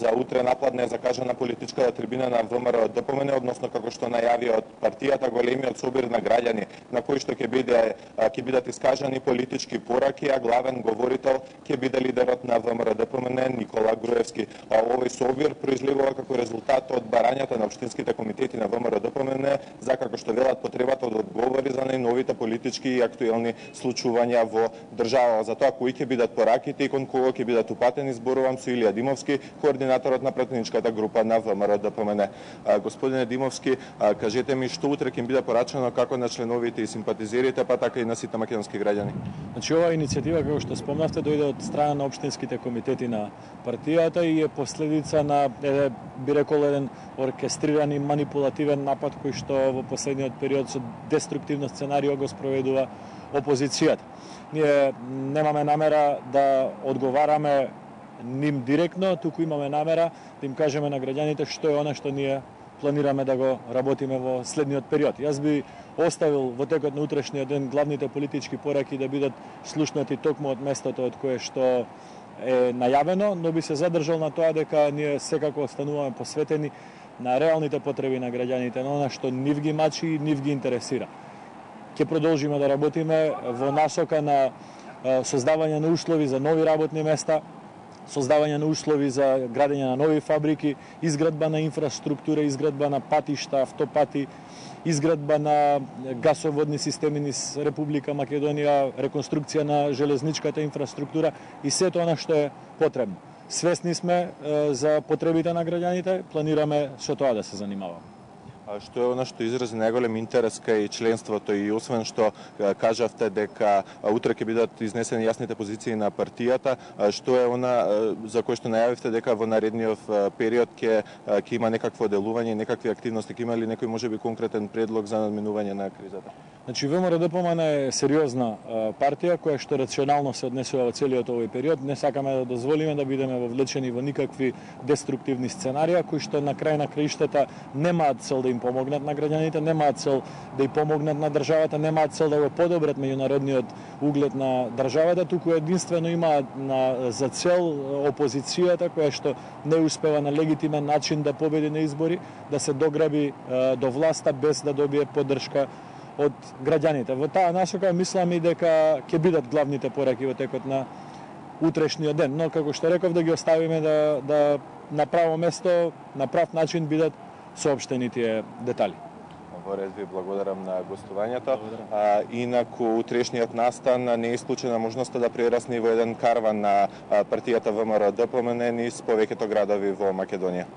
за утре напладне закажана политичката трибина на ВМРО ДПМН, односно како што најави од партијата големиот собир на граѓани на кој што ќе бидат искажани политички пораки, а главен говорител ќе биде лидерот на ВМРО ДПМН Никола Груевски. Овој собир произлегува како резултат од барањата на општинските комитети на ВМРО ДПМН за, како што велат, потребата да одговори за најновите политички и актуелни случувања во држава. За тоа кои ќе бидат пораките и кон кого ќе бидат упатени, зборувам со Илија Димовски, координаторот на пратеничката група на ВМРО ДПМН. Господине Димовски, кажете ми што утре ќе биде порачено како на членовите и симпатизерите, па така и на сите македонски граѓани? Значи, оваа иницијатива, како што спомнавте, дојде од страна на општинските комитети на партијата и е последица на, би рекол, еден оркестриран и манипулативен напад кој што во последниот период со деструктивно сценарио го спроведува опозицијата. Ние немаме намера да одговараме ним директно, туку имаме намера да им кажеме на граѓаните што е она што ние планираме да го работиме во следниот период. Јас би оставил во текот на утрешниот ден главните политички пораки да бидат слушнати токму од местото од кое што е најавено, но би се задржал на тоа дека ние секако остануваме посветени на реалните потреби на граѓаните, на она што нив ги мачи и нив ги интересира. Ќе продолжиме да работиме во насока на создавање на услови за нови работни места, создавање на услови за градење на нови фабрики, изградба на инфраструктура, изградба на патишта, автопати, изградба на гасоводни системи низ Република Македонија, реконструкција на железничката инфраструктура и сето она што е потребно. Свесни сме за потребите на граѓаните, планираме со тоа да се занимаваме. Што е она што изрази најголем интерес кај членството и освен што кажавте дека утре ќе бидат изнесени јасните позиции на партијата, што е она за кое што најавивте дека во наредниот период ќе има некакво делување, некакви активности, ќе има ли некој можеби конкретен предлог за надминување на кризата? Значи, ВМРО ДПМН е сериозна партија која што рационално се однесува во целиот овој период. Не сакаме да дозволиме да бидеме вовлечени во никакви деструктивни сценарија кои што на крај на краиштата немаат цел да им помогнат на граѓаните, немаат цел да ја помогнат на државата, немаат цел да го подобрат меѓународниот углед на државата, туку единствено имаат за цел опозицијата која што не успева на легитимен начин да победи на избори, да се дограби до власта без да добие поддршка од граѓаните. Во таа насока мислам и дека ќе бидат главните пораки во текот на утрешниот ден, но како што реков да ги оставиме да на право место, на прав начин бидат соопштени тие детали. Во ред, ви благодарам на гостувањето. Инаку утрешниот настан не е исклучена можноста да прерасне во еден карван на партијата ВМРО ДПМН низ повеќето градови во Македонија.